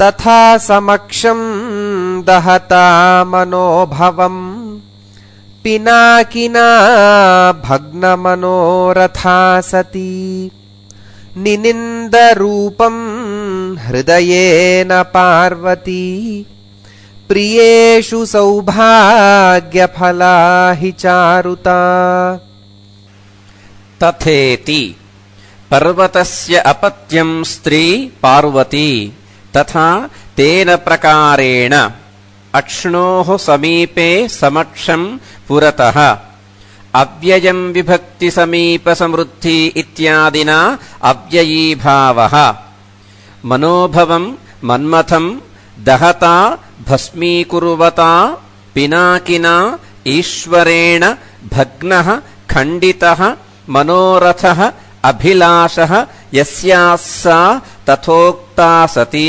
तथा समक्षं दहता मनोभवम् पिनाकिना भग्नमनोरथा सती निनिन्दरूपं हृदयेन पार्वती प्रियेषु सौभाग्यफला हि चारुता। तथेति पर्वतस्य अपत्यं स्त्री पार्वती तथा तेन प्रकारेण अक्ष्णोः समीपे समक्षं पुरतः अव्ययं विभक्ति समीप समृद्धि इत्यादिना अव्ययीभावः मनोभवं मन्मथं दहता भस्मीकुर्वता पिनाकिना ईश्वरेण भग्नः खण्डितः मनोरथः अभिलाषः यस्याः सा तथोक्ता सती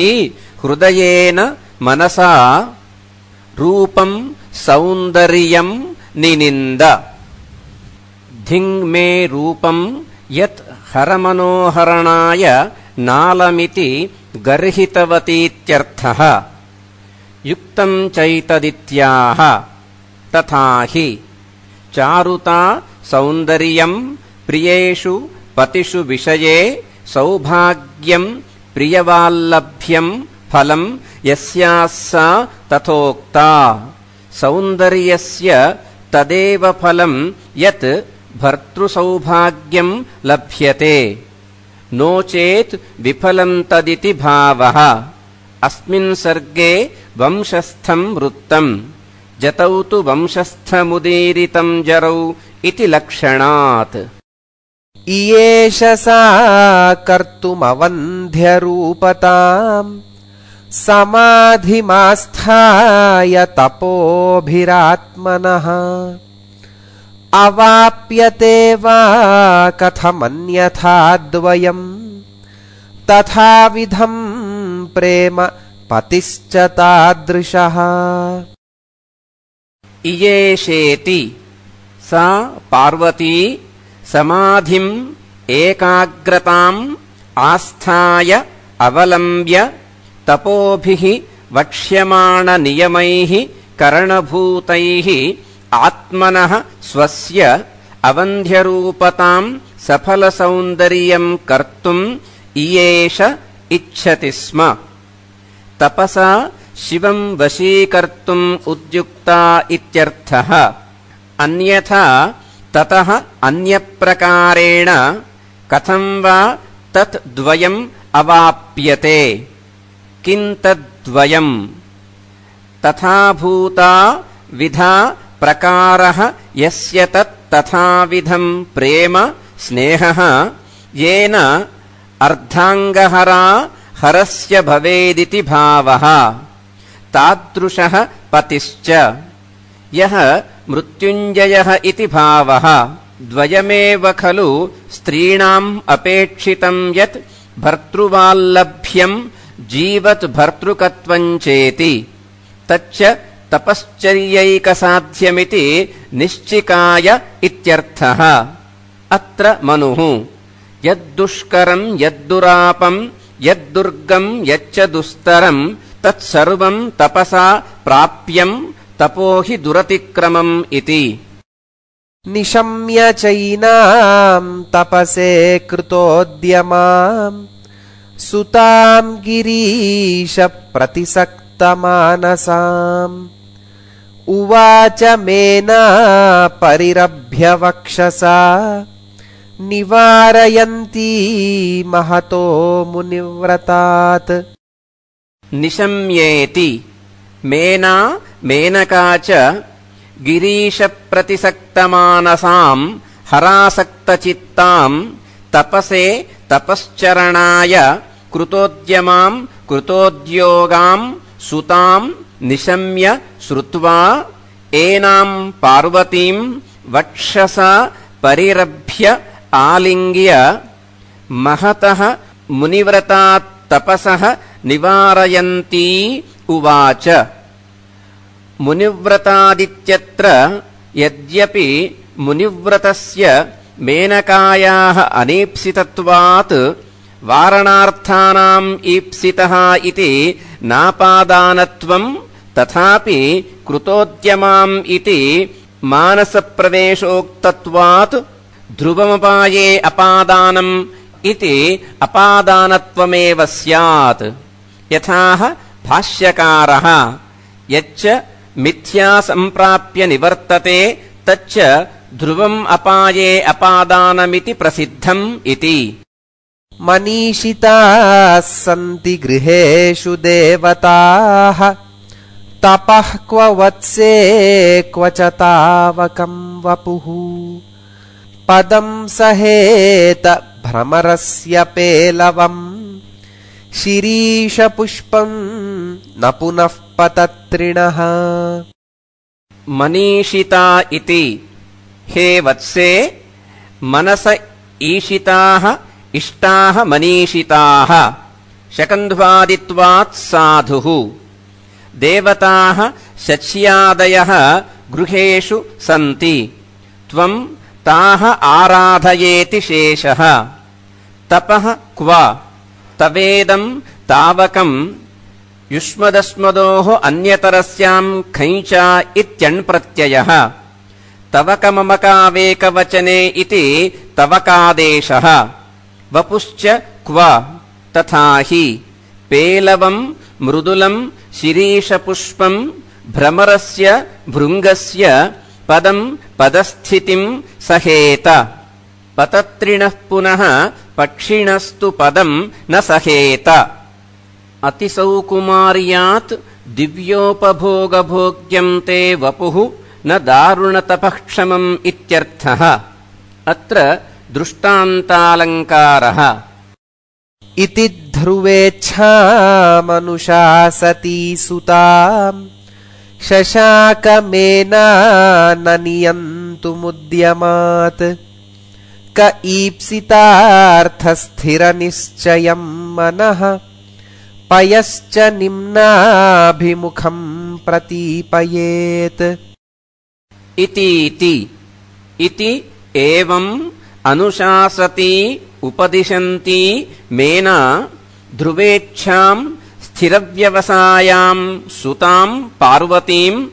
हृदयेन मनसा रूपं सौन्दर्यं निनिन्द। धिङ् मे रूपं यत् हरमनोहरणाय नालमिति गर्हितवतीत्यर्थः युक्तं चैतदित्याह। तथा हि चारुता सौन्दर्यं प्रियेषु पतिषु विषये सौभाग्यं प्रियवाल्लभ्यं फलं यस्याः सा तथोक्ता सौन्दर्यस्य तदेव फलं यत् भर्तृसौभाग्यं लभ्यते नो चेत् विफलं तदिति भावः। अस्मिन् सर्गे वंशस्थं वृत्तं जतौ तु वंशस्थमुदीरितं जरौ इति लक्षणात्। इयेष सा कर्तुमवन्ध्यरूपताम् समाधिमास्थाय तपोभिरात्मनः अवाप्यते वा कथमन्यथा द्वयम् तथाविधं प्रेम पतिश्च तादृशः। इयेषेति सा पार्वती समाधिम् एकाग्रताम् आस्थाय अवलम्ब्य तपोभिः वक्ष्यमाणनियमैः करणभूतैः आत्मनः स्वस्य अवन्ध्यरूपताम् सफलसौन्दर्यम् कर्तुम् इयेष इच्छति स्म। तपसा शिवं वशीकर्तुम् उद्युक्ता इत्यर्थः। अन्यथा ततः अन्यप्रकारेण कथं वा तत् द्वयम् अवाप्यते। किं तद्द्वयम्? तथाभूता विधा प्रकारः यस्य तत् तथाविधं प्रेम स्नेहः येन अर्धाङ्गहरा हरस्य भवेदिति भावः। तादृशः पतिश्च यः मृत्युञ्जयः इति भावः। द्वयमेव खलु स्त्रीणाम् अपेक्षितं यत् भर्तृवाल्लभ्यं जीवत् भर्तृकत्वं चेति तच्च तपश्चर्यैकसाध्यमिति निश्चिकाय इत्यर्थः। अत्र मनुः यद्दुष्करं यद्दुरापं यद्दुर्गं यच्च दुस्तरं तत्सर्वं तपसा प्राप्यं तपो हि दुरतिक्रमम् इति। निशम्य चैनां तपसे कृतोद्यमां सुतां गिरीश प्रतिसक्तमानसाम् उवाच मेना परिरभ्य वक्षसा निवारयन्ती महतो मुनिव्रतात्। निशम्येति मेना मेनका च गिरीशप्रतिसक्तमानसां हरासक्तचित्तां तपसे तपश्चरणाय कृतोद्यमां कृतोद्योगां सुताम् निशम्य श्रुत्वा एनाम् पार्वतीम् वक्षसा परिरभ्य आलिङ्ग्य महतः मुनिव्रतात् तपसः निवारयन्ती उवाच। मुनिव्रतादित्यत्र यद्यपि मुनिव्रतस्य मेनकायाः अनीप्सितत्वात् वारणार्थानाम् ईप्सितः इति नापादानत्वम् तथापि कृतोद्यमाम् इति मानसप्रवेशोक्तत्वात् ध्रुवमपाये अपादानम् इति अपादानत्वमेव स्यात्। यथाह भाष्यकारः यच्च मिथ्या सम्प्राप्य निवर्तते तच्च ध्रुवम् अपाये अपादानमिति प्रसिद्धम् इति। मनीषिताः सन्ति गृहेषु देवताः तपः क्व वत्से क्व च तावकम् वपुः पदम् सहेत भ्रमरस्य पेलवम् शिरीषपुष्पम् न पुनः पतत्रिणः। मनीषिता इति हे वत्से मनस ईशिताः इष्टाः मनीषिताः शकन्ध्वादित्वात् साधुः। देवताः शच्यादयः गृहेषु सन्ति त्वम् ताः आराधयेति शेषः। तपः क्व तवेदम् तावकम् युष्मदस्मदोः अन्यतरस्याम् खञ्चा इत्यण्प्रत्ययः तवकममकावेकवचने इति तवकादेशः। वपुश्च क्व तथा हि पेलवम् मृदुलम् शिरीषपुष्पम् भ्रमरस्य भृङ्गस्य पदम् पदस्थितिम् सहेत। पतत्रिणः पुनः पक्षिणस्तु पदम् न सहेत। अतिसौकुमार्यात् दिव्योपभोगभोग्यम् ते वपुः न दारुणतपःक्षमम् इत्यर्थः। अत्र दृष्टान्तालङ्कारः। इति ध्रुवेच्छा मनुषा सती सुताम् शशाकमेना न नियन्तुमुद्यमात् क ईप्सितार्थस्थिरनिश्चयम् मनः पयश्च निम्नाभिमुखम् प्रतीपयेत्। इति एवम् अनुशासती उपदिशन्ती मेना ध्रुवेच्छाम् स्थिरव्यवसायाम् सुताम् पार्वतीम्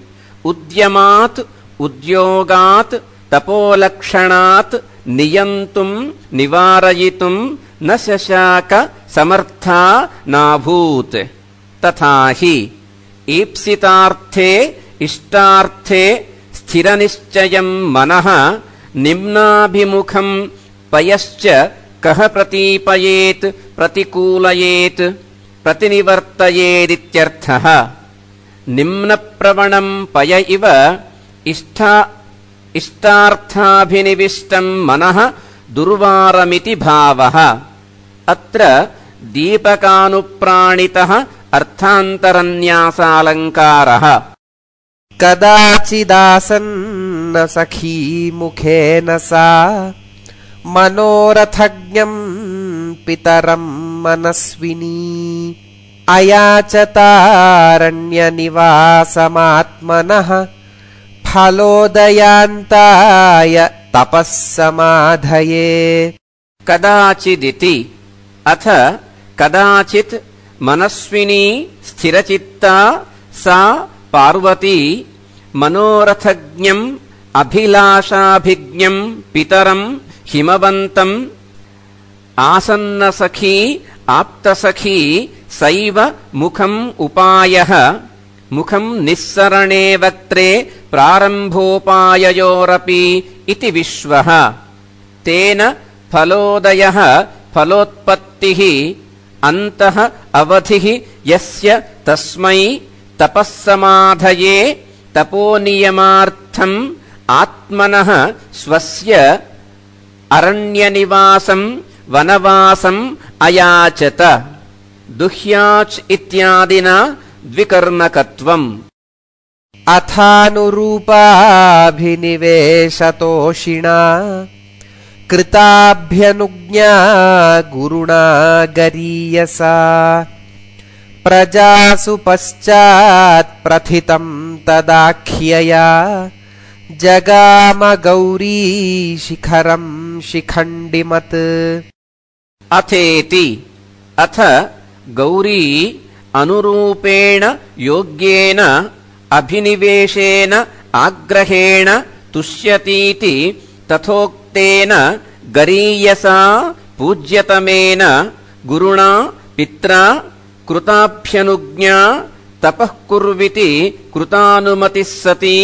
उद्यमात् उद्योगात् तपोलक्षणात् नियन्तुम् निवारयितुम् न शशाक समर्था नाभूत्। तथा हि ईप्सितार्थे इष्टार्थे स्थिरनिश्चयम् मनः निम्नाभिमुखम् पयश्च कः प्रतीपयेत् प्रतिकूलयेत् प्रतिनिवर्तयेदित्यर्थः। निम्नप्रवणम् पय इव इष्टार्थाभिनिविष्टम् मनः दुर्वारमिति भावः। अत्र दीपकानुप्राणितः अर्थान्तरन्यासालङ्कारः। कदाचिदासन्न सखी मुखेन सा मनोरथज्ञम् पितरम् मनस्विनी अयाचतारण्यनिवासमात्मनः फलोदयान्ताय तपः समाधये। कदाचिदिति अथ कदाचित् मनस्विनी स्थिरचित्ता सा पार्वती मनोरथज्ञम् अभिलाषाभिज्ञम् पितरम् हिमवन्तम् आसन्नसखी आप्तसखी सैव मुखम् उपायः मुखम् निस्सरणे वक्त्रे प्रारम्भोपाययोरपि इति विश्वः। तेन फलोदयः फलोत्पत्तिः अन्तः अवधिः यस्य तस्मै तपःसमाधये तपोनियमार्थम् आत्मनः स्वस्य अरण्यनिवासम् वनवासम् अयाचत। दुह्याच् इत्यादिना द्विकर्मकत्वम् अथानुरूपाभिनिवेशतोषिणा कृताभ्यनुज्ञा गुरुणा गरीयसा प्रजासु पश्चात् प्रथितं तदाख्यया जगाम गौरी शिखरं शिखण्डिमत् अथेति अथ गौरी अनुरूपेण योग्येन अभिनिवेशेन आग्रहेण तुष्यतीति तथोक्तेन गरीयसा पूज्यतमेन गुरुणा पित्रा कृताभ्यनुज्ञा तपः कुर्विति कृतानुमतिः सती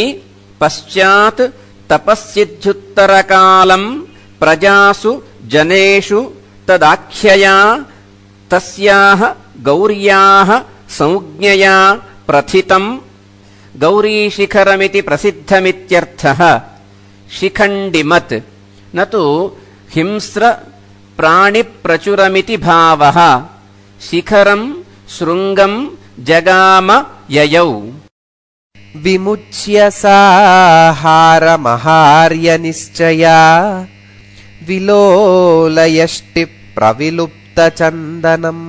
पश्चात् तपस्सिद्ध्युत्तरकालम् प्रजासु जनेषु तदाख्यया तस्याः गौर्याः संज्ञया प्रथितम् गौरीशिखरमिति प्रसिद्धमित्यर्थः शिखण्डिमत् न तु हिंस्र प्राणिप्रचुरमिति भावः शिखरं शृङ्गं जगाम ययौ विमुच्य साहारमहार्यनिश्चया विलोलयष्टि प्रविलुप्तचन्दनम्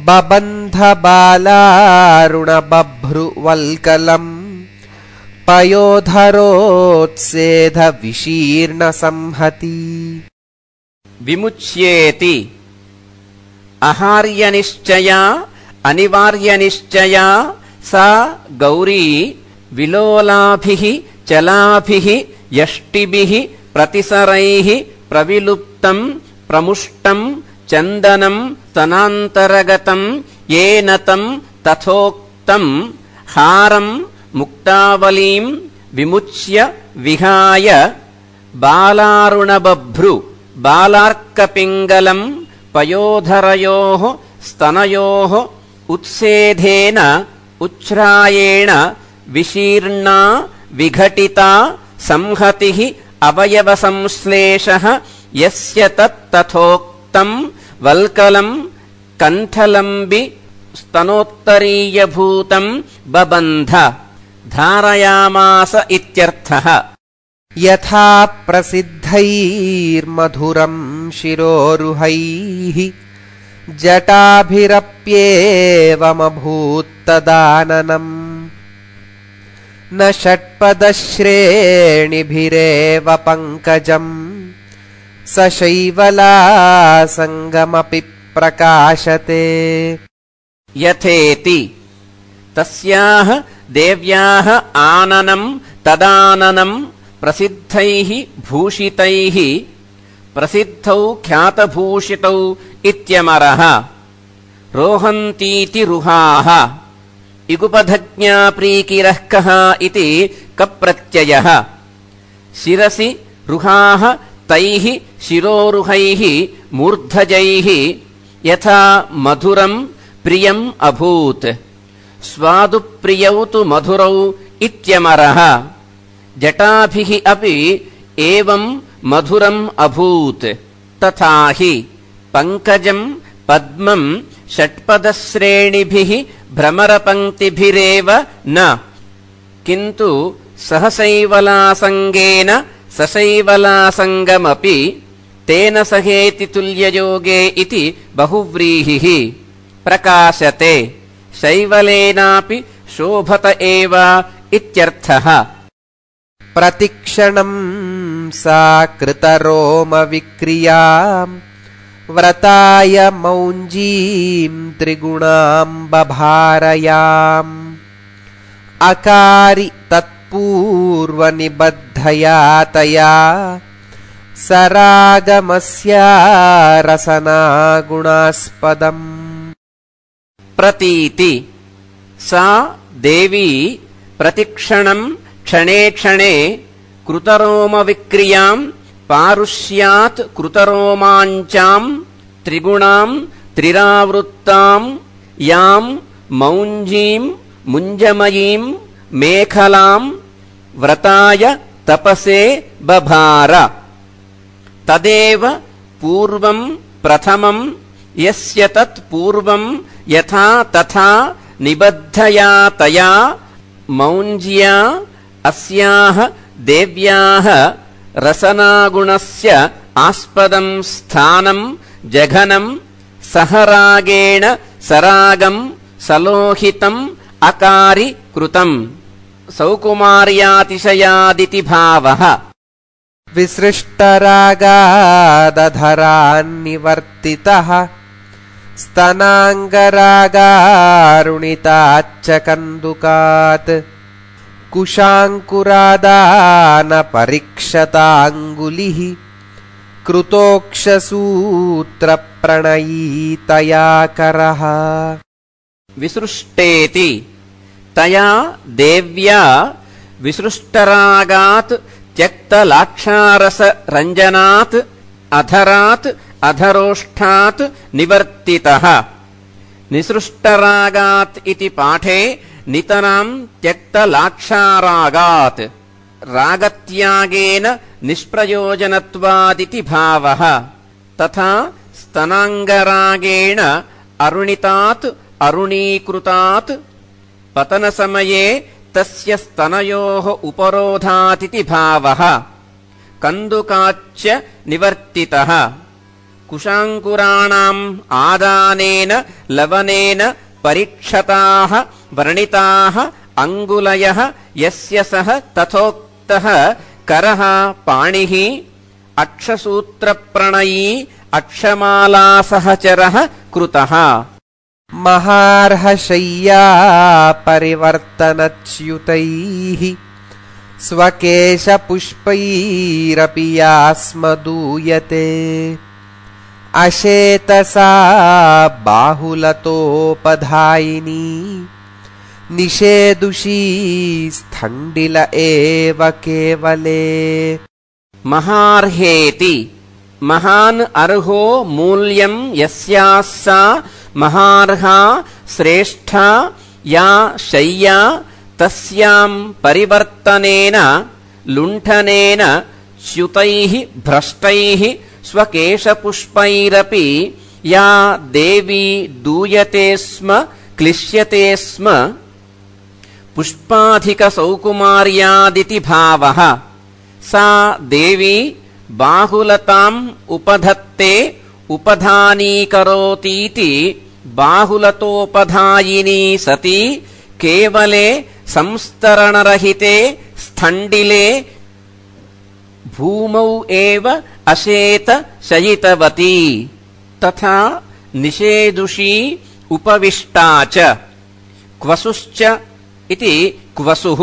बबन्धबालारुणबभ्रुवल्कलम् पयोधरोत्सेधविशीर्णसंहति विमुच्येति आहार्यनिश्चया अनिवार्यनिश्चया सा गौरी विलोलाभिः चलाभिः यष्टिभिः प्रतिसरैः प्रविलुप्तं प्रमुष्टं चन्दनं तनान्तरगतं येन तं तथोक्तं हारं मुक्तावलीं विमुच्य विहाय बालारुणबभ्रु बालार्कपिङ्गलं पयोधरयोः स्तनयोः उत्सेधेन उच्छ्रायेण विशीर्णा विघटिता संहतिः अवयवसंश्लेषः यस्य तत्तथोक्तं वल्कलं कण्ठलम्बि स्तनोत्तरीयभूतं बबन्ध धारयामास इत्यर्थः यथा प्रसिद्धैर्मधुरं शिरोरुहैः जटाभिरप्येवमभूत्तदाननम् न षट्पदश्रेणिभिरेव पङ्कजम् सशैवलासङ्गमपि प्रकाशते यथेति तस्याः देव्याः आननं तदाननं प्रसिद्धैः भूषितैः प्रसिद्धौ ख्यातभूषितौ इत्यमरः रोहन्तीति रुहाः इगुपधज्ञाप्रीकिरः कः इति कप्रत्ययः शिरसि रुहाः तैः शिरोरुहैः मूर्धजैः यथा मधुरं प्रियम् अभूत् स्वादुप्रियौ तु मधुरौ इत्यमरः जटाभिः अपि एवं मधुरम् अभूत् तथा हि पङ्कजं पद्मं षट्पदश्रेणिभिः भ्रमरपङ्क्तिभिरेव न किन्तु सहसैवलासङ्गेन सशैवलासङ्गमपि तेन सहेति तुल्ययोगे इति बहुव्रीहिः प्रकाशते शैवलेनापि शोभत एव इत्यर्थः प्रतिक्षणं सा कृतरोमविक्रियाम् व्रताय मौञ्जीं त्रिगुणां बभारयाम् अकारि तत्पूर्वनिबद्धया तया सरागमस्या रसना गुणास्पदम् प्रतीति सा देवी प्रतिक्षणं क्षणे क्षणे कृतरोमविक्रियां पारुष्यात् कृतरोमाञ्चां त्रिगुणां त्रिरावृत्तां यां मौञ्जीं मुञ्जमयीं मेखलां व्रताय तपसे बभार तदेव पूर्वं प्रथमं यस्य तत् पूर्वं यथा तथा निबद्धया तया मौञ्ज्या अस्याः देव्याः रसनागुणस्य आस्पदं स्थानं जघनं सहरागेण सरागं सलोहितम् अकारि कृतम् सौकुमार्यातिशयादिति भावः। विसृष्टरागादधरान्निवर्तितः स्तनाङ्गरागारुणिताच्च कन्दुकात् कुशाङ्कुरादानपरीक्षताङ्गुलिः कृतोक्षसूत्रप्रणयीतया करः। विसृष्टेति तया देव्या विसृष्टरागात् त्यक्तलाक्षारस रञ्जनात् अधरात् अधरोष्ठात् निवर्तितः। निसृष्टरागात् इति पाठे नितरां त्यक्तलाक्षारागात् रागत्यागेन निष्प्रयोजनत्वादिति भावः। तथा स्तनाङ्गरागेण अरुणितात् अरुणीकृतात् पतनसमये तस्य स्तनयोः उपरोधातिति भावः। कन्दुकाच्च निवर्तितः। कुशाङ्कुराणाम् आदानेन लवनेन परीक्षताः वर्णिताः अङ्गुलयः यस्य सः तथोक्तः करः पाणिः अक्षसूत्रप्रणयी अक्षमालासहचरः कृतः। महार्हशय्या परिवर्तनच्युतैः स्वकेशपुष्पैरपि यास्मदूयते अशेतसा बाहुलतोपधायिनी निषेदुषी स्थण्डिल एव केवले। महार्हेति महान् अर्हो मूल्यं यस्याः सा महार्हा श्रेष्ठा या शय्या तस्यां परिवर्तनेन लुण्ठनेन च्युतैः भ्रष्टैः स्वकेशपुष्पैरपि या देवी दूयते स्म क्लिश्यते स्म पुष्पाधिकसौकुमार्यादिति भावः। सा देवी बाहुलताम् उपधत्ते उपधानीकरोतीति बाहुलतोपधायिनी सती केवले संस्तरणरहिते स्थण्डिले भूमौ एव अशेत शयितवती। तथा निषेदुषी उपविष्टा च क्वसुश्च इति क्वसुः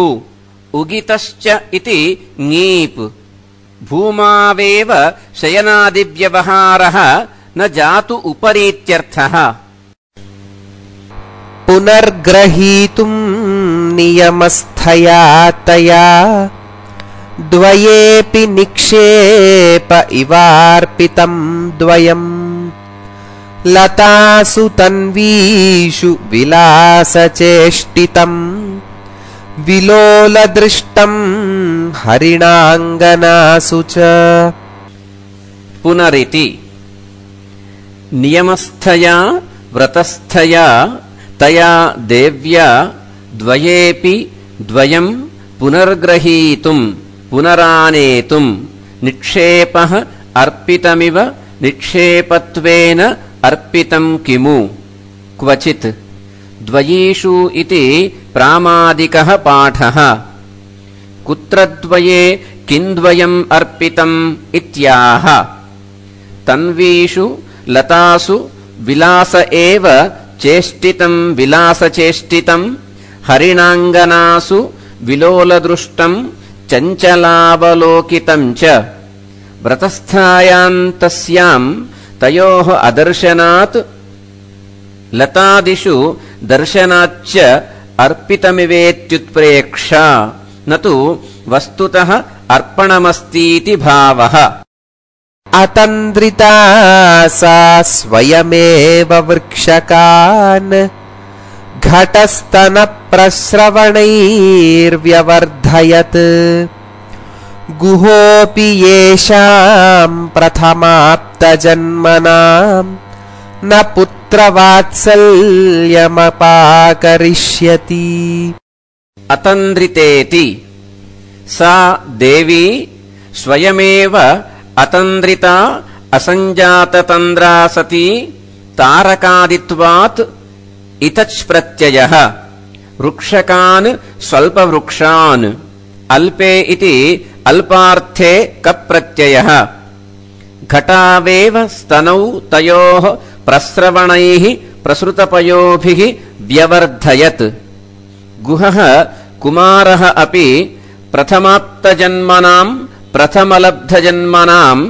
उगितश्च इति ङीप् भूमावेव शयनादिव्यवहारः न जातु उपरीत्यर्थः। पुनर्ग्रहीतुम् नियमस्थया तया द्वयेऽपि निक्षेप इवार्पितम् द्वयम् लतासु तन्वीषु विलासचेष्टितम् विलोलदृष्टम् हरिणाङ्गनासु च। पुनरिति नियमस्थया व्रतस्थया तया देव्या द्वयेऽपि द्वयम् पुनर्ग्रहीतुम् पुनरानेतुम् निक्षेपः अर्पितमिव निक्षेपत्वेन अर्पितम् किमु क्वचित् द्वयीषु इति प्रामादिकः पाठः। कुत्रद्वये किन्द्वयम् अर्पितम् इत्याह। तन्वीषु लतासु विलास एव चेष्टितम् विलासचेष्टितम् हरिणाङ्गनासु विलोलदृष्टम् चञ्चलावलोकितम् च। व्रतस्थायाम् तस्याम् तयोः अदर्शनात् लतादिषु दर्शनाच्च अर्पितमिवेत्युत्प्रेक्षा न तु वस्तुतः अर्पणमस्तीति भावः। अतन्द्रिता सा स्वयमेव वृक्षकान् घटस्तनप्रस्रवणैर्व्यवर्धयत् गुहोऽपि येषाम् प्रथमाप्तजन्मनाम् न पुत्र पुत्रवात्सल्यमपाकरिष्यति अतन्द्रितेति सा देवी स्वयमेव अतन्द्रिता असञ्जाततन्द्रा सती तारकादित्वात् इतच् प्रत्ययः वृक्षकान् स्वल्पवृक्षान् अल्पे इति अल्पार्थे कप्रत्ययः घटावेव स्तनौ तयोः प्रस्रवणैः प्रसृतपयोभिः व्यवर्धयत् गुहः कुमारः अपि प्रथमाप्तजन्मनाम् प्रथमलब्धजन्मनाम्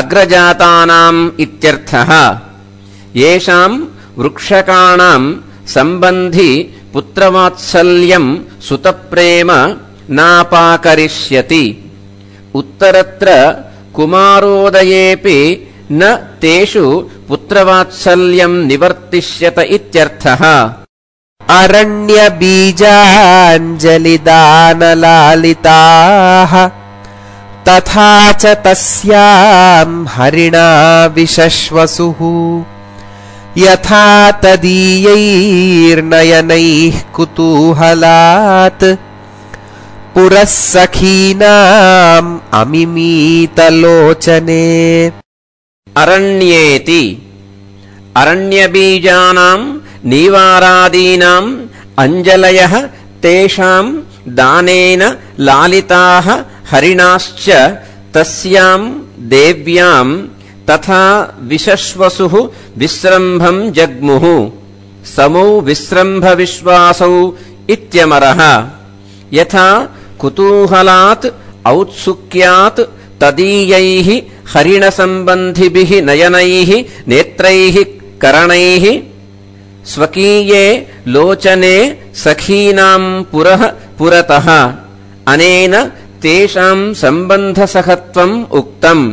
अग्रजातानाम् इत्यर्थः येषाम् वृक्षकाणाम् सम्बन्धि पुत्रवात्सल्यम् सुतप्रेम नापाकरिष्यति उत्तरत्र कुमारोदयेऽपि न तेषु पुत्रवात्सल्यम् निवर्तिष्यत इत्यर्थः अरण्यबीजाञ्जलिदानलालिताः तथा च तस्याम् हरिणा विशश्वसुः यथा तदीयैर्नयनैः कुतूहलात् पुरः सखीनाम् अमिमीतलोचने अरण्येति अरण्यबीजानाम् नीवारादीनाम् अञ्जलयः तेषाम् दानेन लालिताः हरिणाश्च तस्याम् देव्याम् तथा विशश्वसुः विस्रम्भम् जग्मुः समौ विस्रम्भविश्वासौ इत्यमरः यथा कुतूहलात् औत्सुक्यात् तदीयैः हरिणसम्बन्धिभिः नयनैः नेत्रैः करणैः स्वकीये लोचने सखीनाम् पुरः पुरतः अनेन तेषाम् सम्बन्धसहत्वम् उक्तम्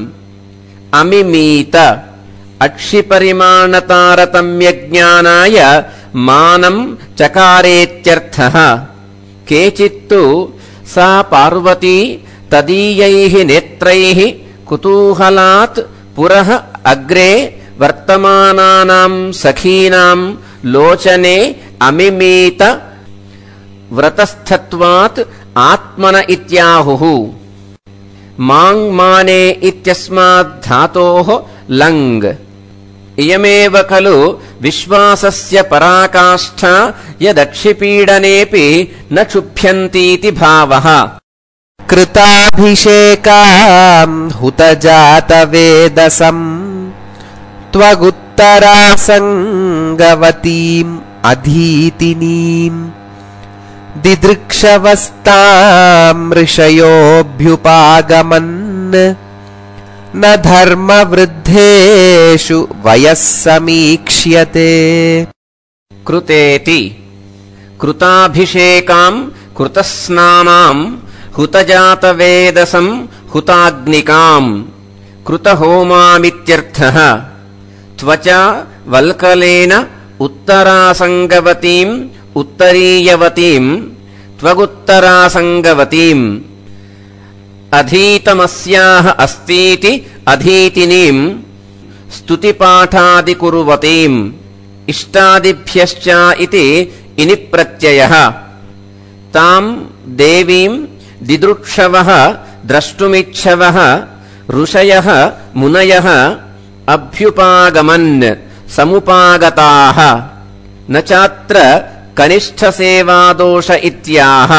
अमिमीत अक्षिपरिमाणतारतम्यज्ञानाय मानम् चकारेत्यर्थः केचित्तु सा पार्वती तदीयैः नेत्रैः कुतूहलात् पुरः अग्रे वर्तमानानाम् सखीनाम् लोचने अमिमीत व्रतस्थत्वात् आत्मन इत्याहुः माङ्माने इत्यस्मात् धातोः लङ् इयमेव खलु विश्वासस्य पराकाष्ठा यदक्षिपीडनेऽपि न क्षुभ्यन्तीति भावः कृताभिषेकाम् हुतजातवेदसम् त्वगुत्तरासङ्गवतीम् अधीतिनीम् दिदृक्षवस्ताम् ऋषयोऽभ्युपागमन् न धर्मवृद्धेषु वयः समीक्ष्यते कृतेति कृताभिषेकाम् कृतस्नानाम् हुतजातवेदसम् हुताग्निकाम् कृतहोमामित्यर्थः त्वचा वल्कलेन उत्तरासङ्गवतीम् उत्तरीयवतीम् त्वगुत्तरासङ्गवतीम् अधीतमस्याः अस्तीति अधीतिनीम् स्तुतिपाठादिकुर्वतीम् इष्टादिभ्यश्च इति इनि प्रत्ययः ताम् देवीम् दिदृक्षवः द्रष्टुमिच्छवः ऋषयः मुनयः अभ्युपागमन् समुपागताः न चात्र कनिष्ठसेवादोष इत्याह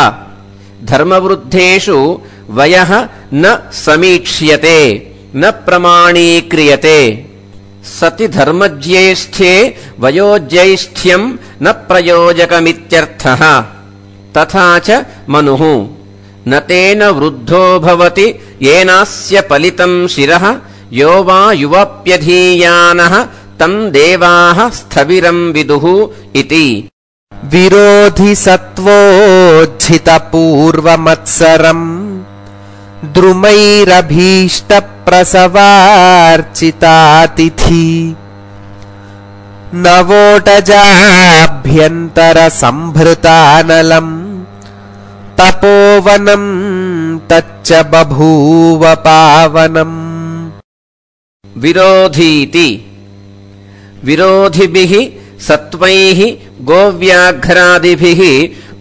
धर्मवृद्धेषु वयः न समीक्ष्यते न प्रमाणीक्रियते सति धर्मज्येष्ठ्ये वयोज्यैष्ठ्यम् न प्रयोजकमित्यर्थः तथा च मनुः न तेन वृद्धो भवति येनास्य पलितम् शिरः यो वा युवाप्यधीयानः तम् देवाः स्थविरम् विदुः इति विरोधि सत्त्वोज्झितपूर्वमत्सरम् द्रुमैरभीष्टप्रसवार्चितातिथि नवोटजाभ्यन्तरसम्भृतानलम् तपोवनम् तच्च बभूव पावनम् विरोधीति विरोधिभिः सत्त्वैः गोव्याघ्रादिभिः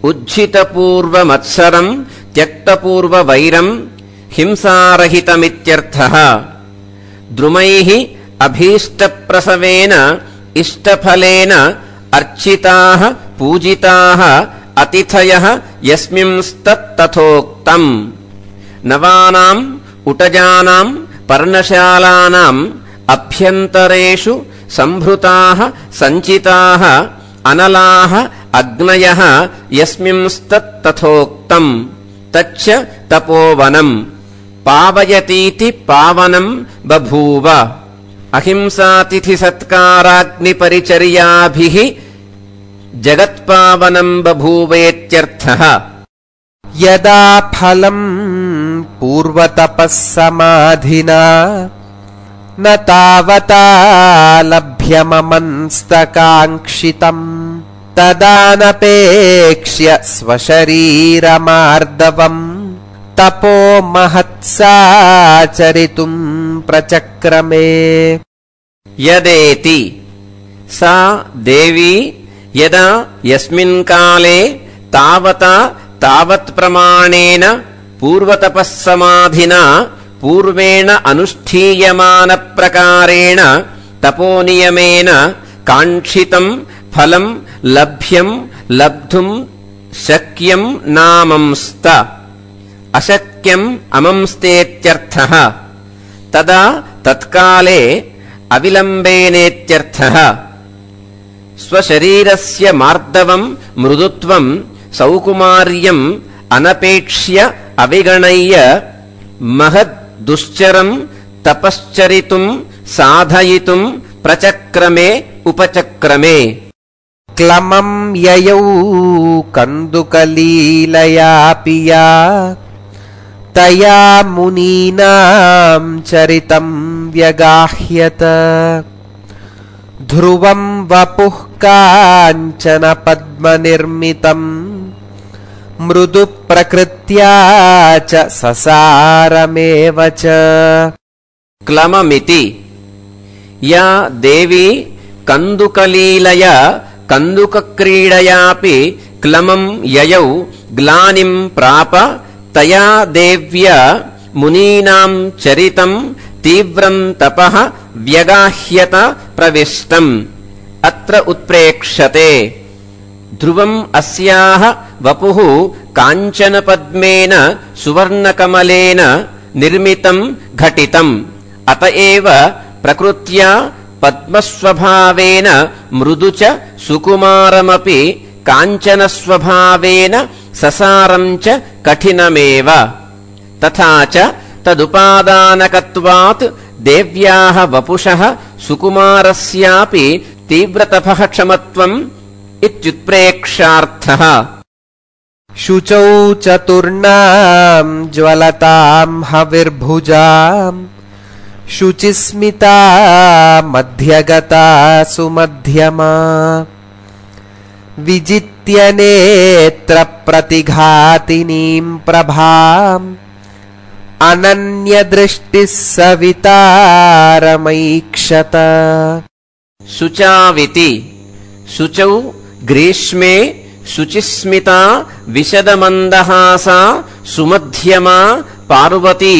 उज्झितपूर्वमत्सरम् त्यक्तपूर्ववैरम् हिंसारहितमित्यर्थः। द्रुमैः अभीष्टप्रसवेन इष्टफलेन अर्चिताः पूजिताः अतिथयः यस्मिंस्तत्तथोक्तम्। नवानाम् उटजानाम् पर्णशालानाम् अभ्यन्तरेषु सम्भृताः सञ्चिताः अनलाः अग्नयः यस्मिंस्तत्तथोक्तम्। तच्च तपोवनम् पावयतीति पावनम् बभूव। अहिंसातिथिसत्काराग्निपरिचर्याभिः जगत्पावनम् बभूवेत्यर्थः। यदा फलम् पूर्वतपः समाधिना न तावता लभ्यममंस्तकाङ्क्षितम् तदानपेक्ष्य स्वशरीरमार्दवम् तपो महत्साचरितुम् प्रचक्रमे। यदेति सा देवी यदा यस्मिन् काले तावता तावत्प्रमाणेन पूर्वतपःसमाधिना पूर्वेण अनुष्ठीयमानप्रकारेण तपोनियमेन काङ्क्षितम् फलम् लभ्यम् लब्धुम् शक्यम् नामंस्त। अशक्यम् अमंस्तेत्यर्थः। तदा तत्काले अविलम्बेनेत्यर्थः। स्वशरीरस्य मार्दवम् मृदुत्वम् सौकुमार्यम् अनपेक्ष्य अविगणय्य महद्दुश्चरम् तपश्चरितुम् साधयितुम् प्रचक्रमे उपचक्रमे। क्लमम् ययौ कन्दुकलीलया पिया तया मुनीनाम् चरितम् व्यगाह्यत। ध्रुवम् वपुः काञ्चन पद्मनिर्मितम् मृदु प्रकृत्या च ससारमेव च। क्लममिति या देवी कन्दुकलीलया कन्दुकक्रीडयापि क्लमम् ययौ ग्लानिम् प्राप तया देव्या मुनीनाम् चरितम् तीव्रम् तपः व्यगाह्यत प्रविष्टम्। अत्र उत्प्रेक्ष्यते। ध्रुवम् अस्याः वपुः काञ्चनपद्मेन सुवर्णकमलेन निर्मितम् घटितम्। अत एव प्रकृत्या पद्मस्वभावेन मृदु च सुकुमारमपि काञ्चनस्वभावेन ससारम् च कठिनमेव। तथा च तदुपादानकत्वात् देव्याः वपुषः सुकुमारस्यापि तीव्रतपः क्षमत्वम् इत्युत्प्रेक्षार्थः। शुचौ चतुर्णाम् ज्वलताम् हविर्भुजाम् शुचिस्मिता मध्यगता सुमध्यमा विजित्य नेत्र प्रतिघातिनीम् प्रभाम् अनन्यदृष्टिः सवितारमैक्षत। शुचाविति शुचौ ग्रीष्मे शुचिस्मिता विशदमन्दहासा सुमध्यमा पार्वती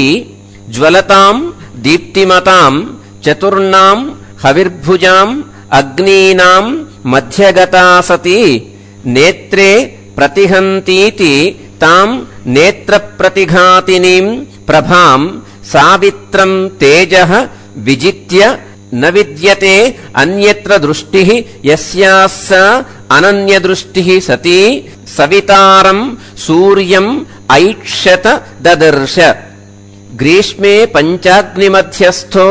ज्वलताम् दीप्तिमताम् चतुर्णाम् हविर्भुजाम् अग्नीनाम् मध्यगता सती नेत्रे प्रतिहन्तीति ताम् नेत्रप्रतिघातिनीम् प्रभाम् सावित्रम् तेजः विजित्य न विद्यते अन्यत्र दृष्टिः यस्याः सा अनन्यदृष्टिः सती सवितारम् सूर्यम् ऐक्षत ददर्श। ग्रीष्मे पञ्चाग्निमध्यस्थो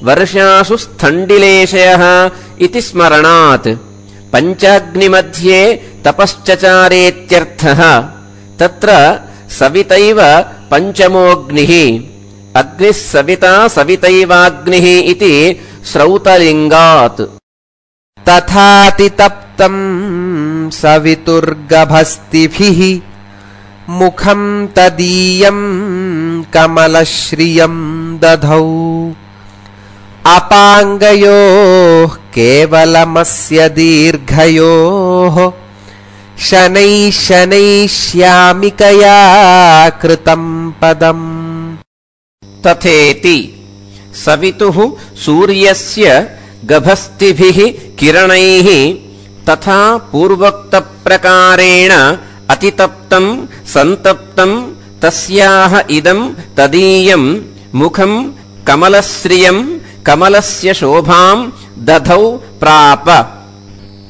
वर्षासु स्थण्डिलेशयः इति स्मरणात् पञ्चाग्निमध्ये तपश्चचारेत्यर्थः। तत्र सवितैव पञ्चमोऽग्निः अग्निः सविता सवितैवाग्निः इति श्रौतलिङ्गात्। तथातितप्तम् सवितुर्गभस्तिभिः मुखम् तदीयम् कमलश्रियम् दधौ अपाङ्गयोः केवलमस्य दीर्घयोः शनैः शनैः श्यामिकया कृतं पदम्। तथेति सवितुः सूर्यस्य गभस्तिभिः किरणैः तथा पूर्वोक्तप्रकारेण अतितप्तं सन्तप्तं तस्याः इदं तदीयं मुखं कमलश्रियं कमलस्य शोभां दधौ प्राप।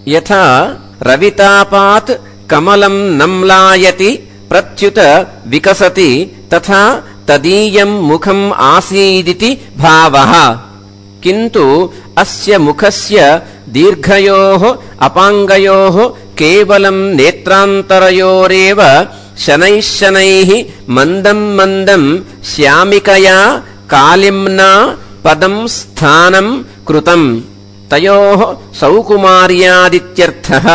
यथा रवितापात् कमलं नम्लायति प्रत्युत विकसति तथा तदीयं मुखम् आसीदिति भावः। किन्तु अस्य मुखस्य दीर्घयोः अपाङ्गयोः केवलं नेत्रान्तरयोरेव शनैः शनैः मन्दं मन्दं श्यामिकया कालिम्ना पदं स्थानं कृतम्। तयोः सौकुमार्यादित्यर्थः।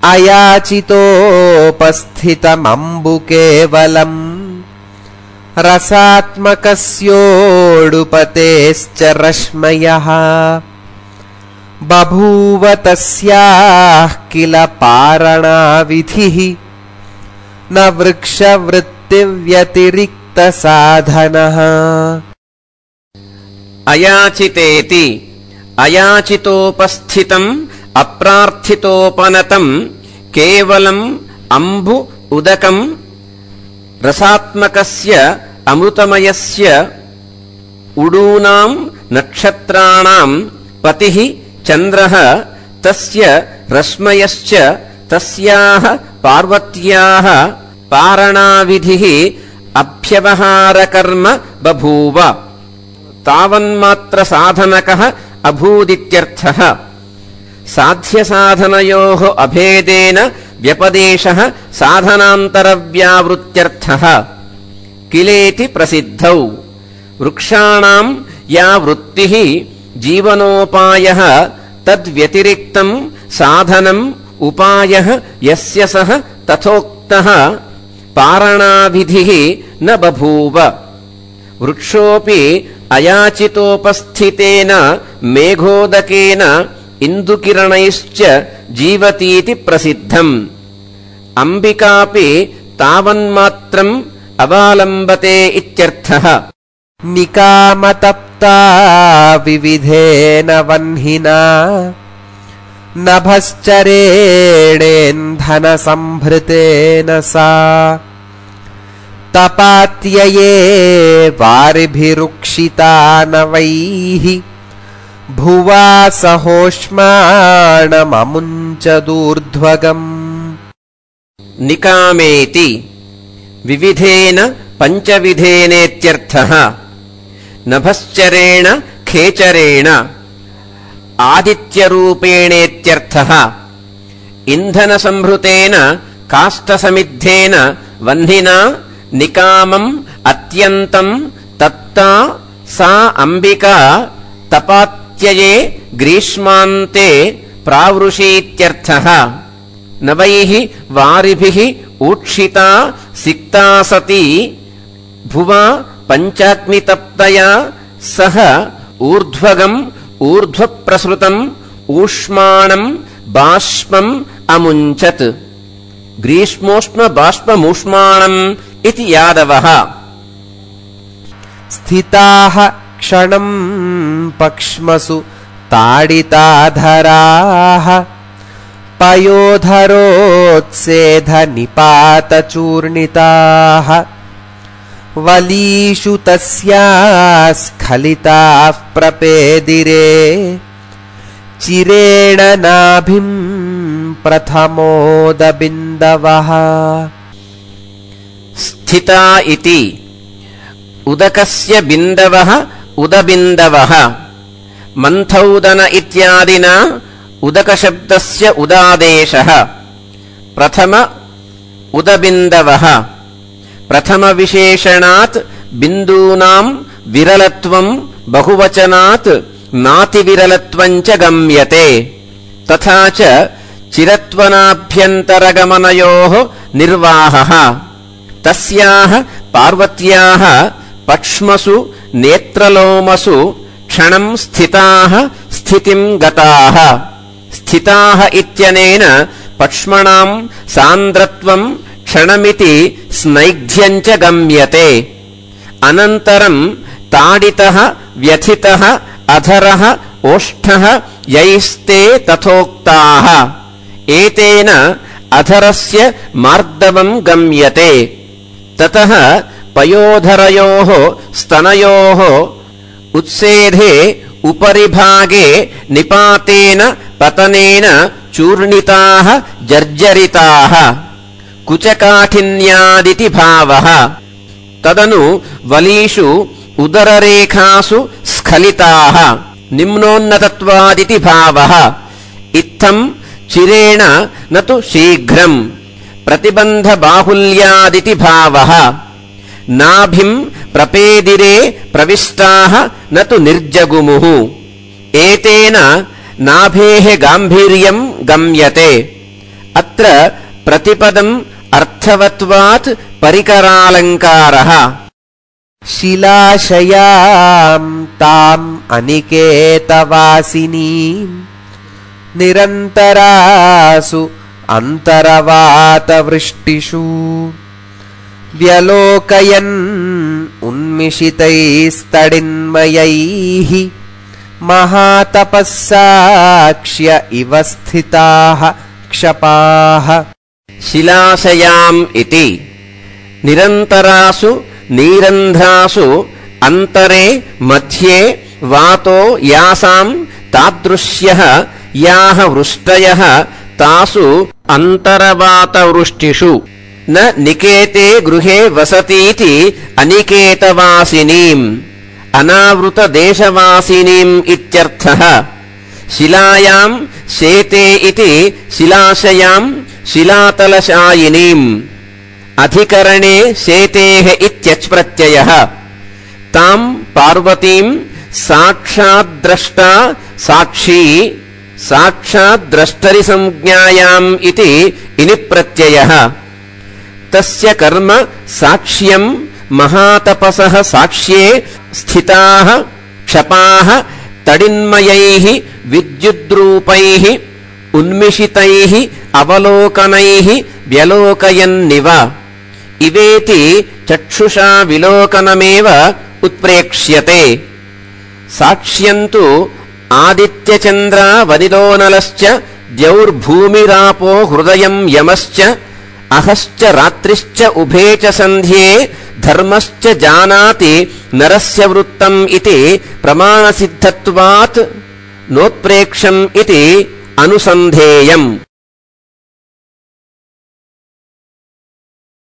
अयाचितोपस्थितमम्बु केवलम् रसात्मकस्योडुपतेश्च रश्मयः बभूव तस्याः किल पारणाविधिः न वृक्षवृत्तिव्यतिरिक्तसाधनः। अयाचितेति अयाचितोपस्थितम् अप्रार्थितोपनतम् केवलम् अम्बु उदकम् रसात्मकस्य अमृतमयस्य उडूनाम् नक्षत्राणाम् पतिः चन्द्रः तस्य रश्मयश्च तस्याः पार्वत्याः पारणाविधिः अभ्यवहारकर्म बभूव तावन्मात्र साधनकः अभूदित्यर्थः। साध्यसाधनयोः अभेदेन व्यपदेशः साधनान्तरव्यावृत्त्यर्थः। किलेति प्रसिद्धौ। वृक्षाणां या वृत्तिः जीवनोपायः तद्व्यतिरिक्तं साधनम् उपायः यस्य सः तथोक्तः पारणाविधिः न बभूव। वृक्षोऽपि अयाचितोपस्थितेन मेघोदकेन इन्दुकिरणैश्च जीवतीति प्रसिद्धम्। अम्बिकापि तावन्मात्रम् अवालम्बते इत्यर्थः। निकामतप्ता विविधेन वह्निना नभश्चरेणेन्धनसंभृतेन सा तपात्यये वारिभिरुक्षिता नवैः भुवा सहोष्माणममुञ्चदूर्ध्वगम्। निकामेति विविधेन पञ्चविधेनेत्यर्थः। नभश्चरेण खेचरेण आदित्यरूपेणेत्यर्थः। इन्धनसंभृतेन काष्ठसमिद्धेन वह्निना निकामम् अत्यन्तम् तप्ता सा अम्बिका तपात्यये ग्रीष्मान्ते प्रावृषीत्यर्थः। नवैः वारिभिः ऊक्षिता सिक्ता सती भुवा पञ्चाग्नितप्तया सह ऊर्ध्वगम् ऊर्ध्वप्रसृतम् ऊष्माणम् बाष्पम् अमुञ्चत्। ग्रीष्मोष्ण बाष्पमूष्माणम् इति यादवः। स्थिताः क्षणम् पक्ष्मसु ताडिताधराः पयोधरोत्सेधनिपातचूर्णिताः वलीषु तस्याः स्खलिताः प्रपेदिरे चिरेण नाभिम् प्रथमोदबिन्दवः। स्थिता इति उदकस्य बिन्दवः उदबिन्दवः। मन्थौदन इत्यादिना उदकशब्दस्य उदादेशः। प्रथम उदबिन्दवः। प्रथमविशेषणात् बिन्दूनां विरलत्वं बहुवचनात् नातिविरलत्वं च गम्यते। तथा च चिरत्वनाभ्यन्तरगमनयोः निर्वाहः। तस्याः पार्वत्याः पक्ष्मसु नेत्रलोमसु क्षणं स्थिताः स्थितिम् गताः स्थिताः इत्यनेन पक्ष्मणाम् सान्द्रत्वम् क्षणमिति स्नैग्ध्यम् च गम्यते अनन्तरम् ताडितः व्यथितः अधरः ओष्ठः यैस्ते तथोक्ताः एतेन अधरस्य मार्दवम् गम्यते ततः पयोधरयोः स्तनयोः उत्सेधे उपरिभागे निपातेन पतनेन चूर्णिताः जर्जरिताः कुचकाठिन्यादिति भावः तदनु वलीषु उदररेखासु स्खलिताः निम्नोन्नतत्वादिति भावः इत्थम् चिरेण न तु शीघ्रम् प्रतिबन्धबाहुल्यादिति भावः नाभिम् प्रपेदिरे प्रविष्टाः न तु निर्जगुमुः एतेन नाभेः गाम्भीर्यम् गम्यते अत्र प्रतिपदम् अर्थवत्वात् परिकरालङ्कारः शिलाशयाम् ताम् अनिकेतवासिनीम् निरन्तरासु अन्तरवातवृष्टिषु व्यलोकयन् उन्मिषितैस्तडिन्मयैः महातपस्साक्ष्य इव स्थिताः क्षपाः शिलाशयाम् इति निरन्तरासु नीरन्ध्रासु अन्तरे मध्ये वातो यासाम् तादृश्यः याः वृष्टयः तासु अन्तरवातवृष्टिषु न निकेते गृहे वसतीति अनिकेतवासिनीम् अनावृतदेशवासिनीम् इत्यर्थः शिलायाम् शेते इति शिलाशयाम् शिलातलशायिनीम् अधिकरणे शेतेः इत्यच्प्रत्ययः ताम् पार्वतीम् साक्षाद्द्रष्टा साक्षी साक्षाद्द्रष्टरिसंज्ञायाम् इति इनिप्रत्ययः तस्य कर्म साक्ष्यम् महातपसः साक्ष्ये स्थिताः क्षपाः तडिन्मयैः विद्युद्रूपैः उन्मिषितैः अवलोकनैः व्यलोकयन्निव इवेति चक्षुषा विलोकनमेव उत्प्रेक्ष्यते साक्ष्यन्तु आदित्यचन्द्रावनिलोनलश्च द्यौर्भूमिरापो हृदयम् यमश्च अहश्च रात्रिश्च उभे च सन्ध्ये धर्मश्च जानाति नरस्य वृत्तम् इति प्रमाणसिद्धत्वात् नोत्प्रेक्षम् इति अनुसन्धेयम्।